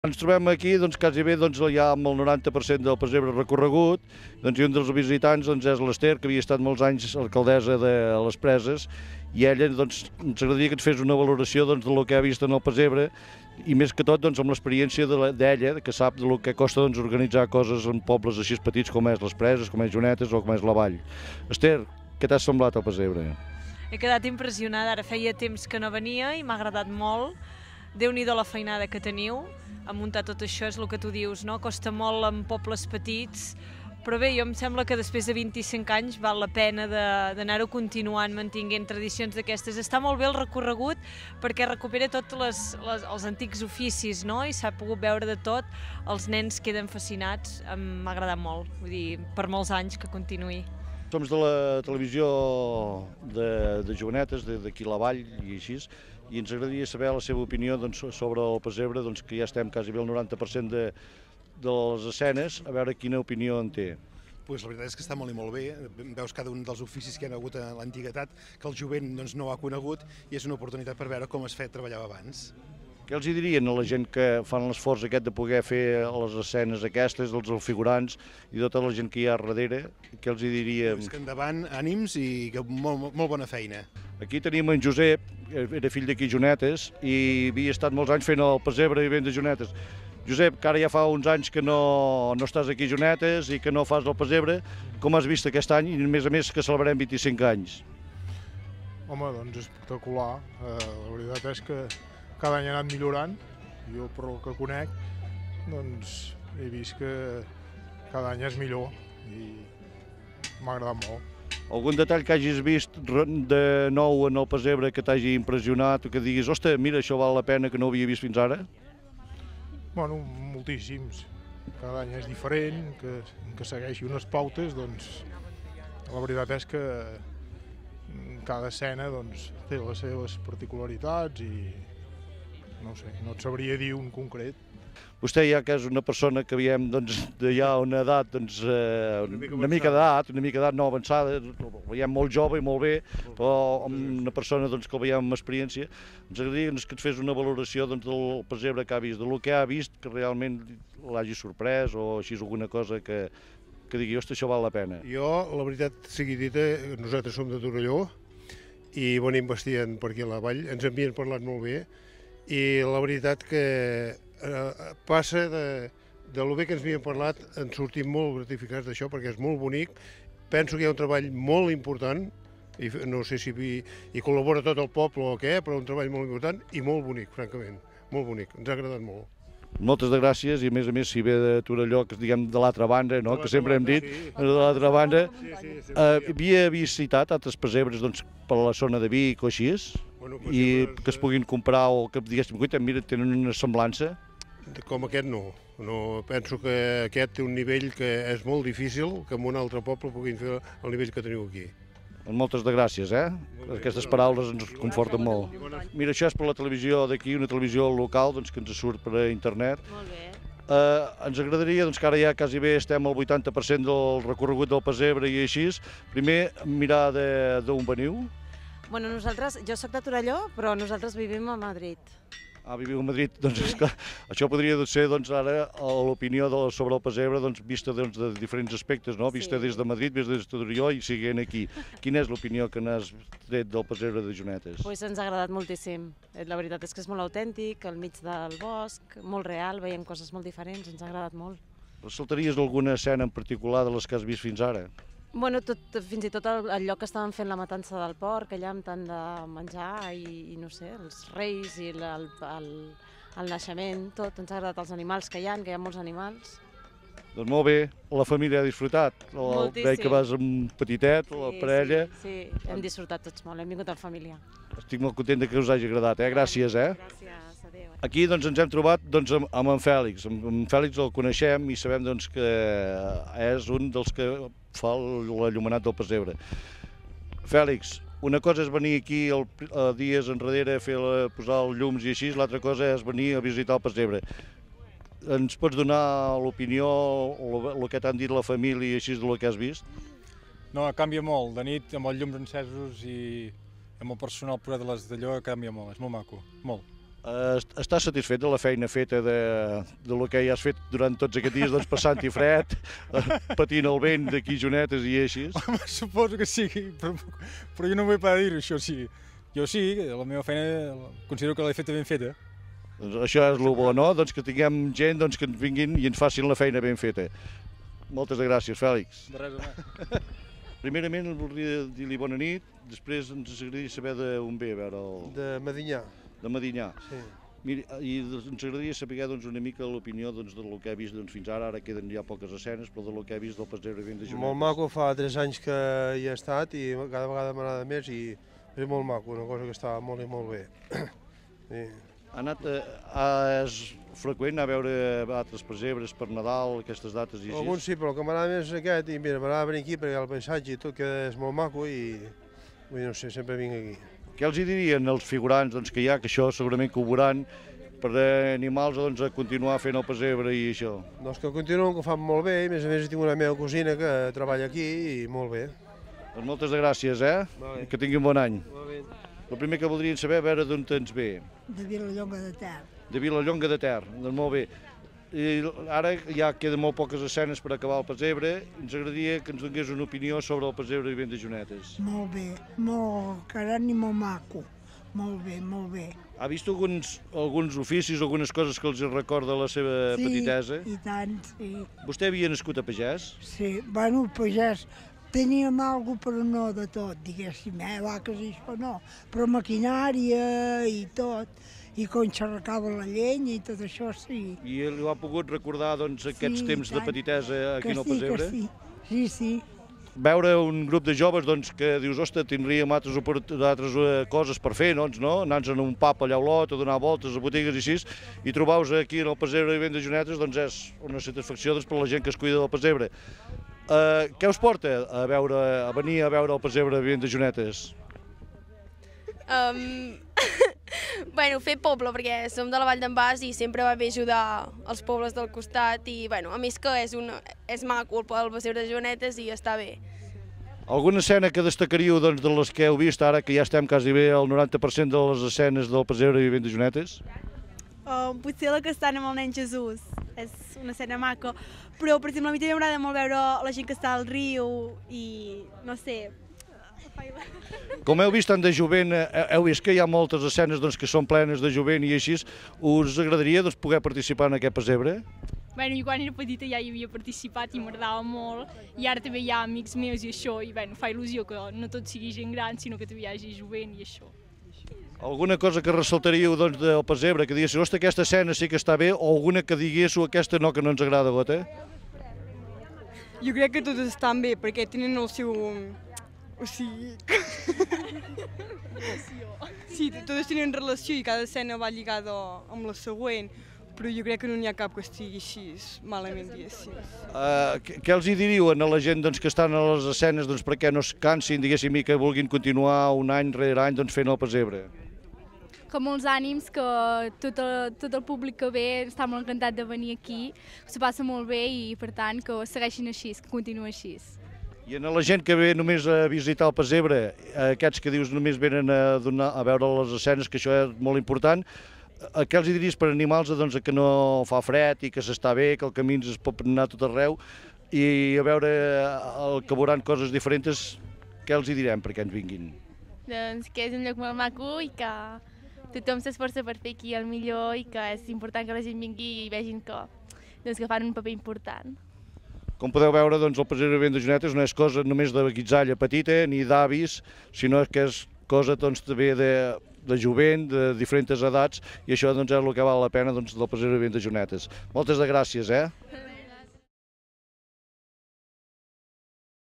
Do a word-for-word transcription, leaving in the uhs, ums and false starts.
Ens trobem aquí, doncs, quasi bé doncs, ja amb el noranta per cent del pessebre recorregut, doncs, i un dels visitants doncs, és l'Ester, que havia estat molts anys alcaldessa de les Preses, i ella doncs, ens agradaria que ens fes una valoració doncs, del que ha vist en el pessebre, i més que tot doncs, amb l'experiència d'ella, que sap del que costa doncs, organitzar coses en pobles així petits com és les Preses, com és Jonetes o com és la Vall. Ester, què t'ha semblat el pessebre? He quedat impressionada, ara feia temps que no venia i m'ha agradat molt. Déu-n'hi-do la feinada que teniu a muntar tot això, és el que tu dius, no? Costa molt en pobles petits, però bé, jo em sembla que després de vint-i-cinc anys val la pena d'anar-ho continuant, mantinguent tradicions d'aquestes. Està molt bé el recorregut perquè recupera tots les, les, els antics oficis, no? I s'ha pogut veure de tot, els nens queden fascinats, m'ha agradat molt, vull dir, per molts anys que continuï. Som de la televisió de, de Jovenetes, d'aquí la Vall i així, i ens agradaria saber la seva opinió doncs, sobre el pessebre, doncs, que ja estem quasi bé al noranta per cent de, de les escenes, a veure quina opinió en té. Pues la veritat és que està molt i molt bé, veus cada un dels oficis que hi ha hagut a l'antiguitat, que el jovent doncs, no ha conegut, i és una oportunitat per veure com es feia treballar abans. Què els hi dirien a la gent que fan l'esforç aquest de poder fer les escenes aquestes, els figurants i tota la gent que hi ha darrere? Què els hi diríem? Pues que endavant, ànims i que molt, molt bona feina. Aquí tenim en Josep, era fill d'aquí Jonetes, i havia estat molts anys fent el pessebre i vent de Jonetes. Josep, que ara ja fa uns anys que no, no estàs aquí a Jonetes i que no fas el pessebre, com has vist aquest any i a més a més que celebrem vint-i-cinc anys? Home, doncs espectacular. Eh, la veritat és que cada any ha anat millorant. Jo, per el que conec, doncs he vist que cada any és millor i m'ha agradat molt. Algun detall que hagis vist de nou en el pessebre que t'hagi impressionat o que diguis, ostres, mira, això val la pena que no ho havia vist fins ara? Bueno, moltíssims. Cada any és diferent, que, que segueixi unes pautes, doncs la veritat és que cada escena doncs, té les seves particularitats i no sé, no et sabria dir un concret. Vostè ja que és una persona que veiem doncs, de ja una edat, doncs, eh, una mica d'edat, una mica d'edat no avançada, el veiem molt jove i molt bé, però una persona doncs, que el veiem amb experiència, ens agradaria que ens fes una valoració doncs, del pessebre que ha vist, del que ha vist que realment l'hagi sorprès o així alguna cosa que, que digui, ostres, això val la pena. Jo, la veritat sigui dita, nosaltres som de Torelló i venim bastant per aquí a la Vall, ens havien parlat molt bé i la veritat que eh, passa de, de lo bé que ens havien parlat, ens sortim molt gratificats d'això perquè és molt bonic. Penso que hi ha un treball molt important, i no sé si hi, hi col·labora tot el poble o què, però un treball molt important i molt bonic, francament, molt bonic, ens ha agradat molt. Moltes de gràcies i a més a més si ve de Torelló, que diguem de l'altra banda, no? Que sempre hem dit, de l'altra banda, eh, havia visitat altres pessebres doncs, per la zona de Vic o així, Bueno, i que es puguin comprar o que diguéssim, mira, tenen una semblança? Com aquest no, no, penso que aquest té un nivell que és molt difícil que en un altre poble puguin fer el nivell que teniu aquí. Moltes de gràcies, eh? Aquestes paraules ens conforten molt. Mira, això és per la televisió d'aquí, una televisió local doncs, que ens surt per internet. Molt bé. Eh, ens agradaria, doncs, que ara ja quasi bé estem al vuitanta per cent del recorregut del pessebre i així, primer mirar d'on veniu. Bueno, nosaltres, jo soc de Torelló, però nosaltres vivim a Madrid. Ah, viviu a Madrid, doncs és que això podria ser doncs, ara l'opinió sobre el pessebre doncs, vista doncs, de diferents aspectes, no? Vista Sí. des de Madrid, vista des de Torelló i siguent aquí. Quina és l'opinió que n'has tret del pessebre de Jonetes? Pues ens ha agradat moltíssim. La veritat és que és molt autèntic, al mig del bosc, molt real, veiem coses molt diferents, ens ha agradat molt. Ressaltaries alguna escena en particular de les que has vist fins ara? Bueno, tot, fins i tot el, el lloc que estaven fent la matança del porc, allà amb tant de menjar i, i no sé, els reis i el, el, el naixement, tot, ens ha agradat els animals que hi ha, que hi ha molts animals. Doncs molt bé, la família ha disfrutat, Moltíssim. veig que vas amb petitet, la parella. Sí, sí, hem disfrutat tots molt, hem vingut en família. Estic molt content que us hagi agradat, eh? Gràcies, eh? Gràcies, adéu. Aquí doncs, ens hem trobat doncs, amb, amb en Fèlix. Amb en Fèlix el coneixem i sabem doncs, que és un dels que fa l'allumenat del pessebre. Fèlix, una cosa és venir aquí el, el dies enrere a fer la, posar els llums i així, l'altra cosa és venir a visitar el pessebre. Ens pots donar l'opinió, el que t'han dit la família i així del que has vist? No, canvia molt. De nit, amb els llums encesos i amb el personal posat a les d'allò, canvia molt. És molt maco, molt. Estàs satisfet de la feina feta de, de lo que ja has fet durant tots aquests dies, doncs passant-hi fred, patint el vent d'aquí Jonetes i així? Home, suposo que sí, però, però jo no vull parar de dir-ho, això sí. Jo sí, la meva feina considero que l'he feta ben feta. Doncs això és el bo, no? Doncs que tinguem gent doncs, que ens vinguin i ens facin la feina ben feta. Moltes gràcies, Fèlix. De res, home. Primerament voldria dir-li bona nit, després ens agradaria saber d'on ve, a veure el... De Medinyà. De Medinyà. Sí. Miri, i ens agradaria saber doncs, una mica l'opinió doncs, del que he vist doncs, fins ara, ara queden ja poques escenes, però del que he vist del pessebre ben de Jonetes. Molt maco, fa tres anys que hi he estat i cada vegada m'agrada més i és molt maco, una cosa que està molt i molt bé. Sí. Ha anat, eh, és freqüent a veure altres pessebres per Nadal, aquestes dates i així? Alguns sí, però el que m'agrada més és aquest i mira, m'agrada venir aquí perquè el paisatge i tot que és molt maco i vull dir, no sé, sempre vinc aquí. Què els hi dirien els figurants doncs, que hi ha, que això segurament que ho veuran, per animals doncs, a continuar fent el pessebre i això? Doncs que continuen, que ho fan molt bé, i a més a més tinc una meva cosina que treballa aquí i molt bé. Doncs moltes gràcies, eh? Vale. Que tingui un bon any. Vale. El primer que voldrien saber, a veure d'on ens ve. De Vilallonga de Ter. De Vilallonga de Ter, doncs molt bé. I ara ja queden molt poques escenes per acabar el pessebre. Ens agradaria que ens donés una opinió sobre el pessebre i ben de Jonetes. Molt bé, molt carat i molt maco. Molt bé, molt bé. Ha vist alguns, alguns oficis, algunes coses que els recorda la seva sí, petitesa? Sí, i tant, sí. Vostè havia nascut a Pagès? Sí, bueno, Pagès teníem alguna cosa, però no de tot, diguéssim, eh, vaques i això no, però maquinària i tot. I com xerracava la llenya i tot això, sí. I li ha pogut recordar doncs, aquests sí, temps de petitesa aquí al pessebre? Que sí, sí, sí. Veure un grup de joves doncs, que dius, ostres, tindríem altres, altres coses per fer, doncs, no? Anar-nos a un pub allà a Olot, a donar voltes a botigues i així, i trobar-vos aquí en el pessebre i ben de Jonetes doncs, és una satisfacció doncs, per la gent que es cuida del pessebre. Uh, què us porta a, veure, a venir a veure el pessebre i ben de Jonetes? Um... Bueno, fer poble, perquè som de la Vall d'en Bas i sempre va bé ajudar els pobles del costat i, bueno, a més que és, un, és maco el pessebre de Jonetes i està bé. Alguna escena que destacaríeu doncs, de les que heu vist ara, que ja estem quasi bé al noranta per cent de les escenes del pessebre i ben de Jonetes? Uh, potser la que estan amb el nen Jesús, és una escena maca, però per exemple a mi també m'agrada molt veure la gent que està al riu i, no sé... Com heu vist tant de jovent, heu vist que hi ha moltes escenes doncs, que són plenes de jovent i així, us agradaria doncs, poder participar en aquest pessebre? Bueno, jo quan era petita ja hi havia participat i m'agradava molt, i ara també hi ha amics meus i això, i bueno, fa il·lusió que no tot sigui gent gran, sinó que també hi hagi jovent i això. Alguna cosa que ressaltaríeu doncs, del pessebre, que diguéssiu, ostres, aquesta escena sí que està bé, o alguna que diguéssiu, aquesta no, que no ens agrada, gota? Jo crec que totes estan bé, perquè tenen el seu... O sigui... Sí, totes tenen relació i cada escena va lligada amb la següent, però jo crec que no n'hi ha cap que estigui així malament, diguéssim. Uh, què els hi diríeu a la gent doncs, que estan a les escenes doncs, perquè no es cansin, diguéssim, i que vulguin continuar un any rere any doncs, fent el pessebre? Que molts ànims, que tot el, tot el públic que ve està molt encantat de venir aquí, que s'ho passa molt bé i per tant que segueixin així, que continuï així. I a la gent que ve només a visitar el pessebre, aquests que dius només venen a, donar, a veure les escenes, que això és molt important, què els diries per animals doncs, que no fa fred i que s'està bé, que el camí es pot anar a tot arreu, i a veure el que veuran coses diferents, què els hi direm perquè ens vinguin? Doncs que és un lloc molt maco i que tothom s'esforça per fer aquí el millor i que és important que la gent vingui i vegin que, doncs, que fan un paper important. Com podeu veure, doncs, el pessebre ben de Jonetes no és cosa només de guitzalla petita ni d'avis, sinó que és cosa doncs, també de, de jovent, de diferents edats, i això doncs, és el que val la pena doncs, del pessebre ben de Jonetes. Moltes de gràcies, eh?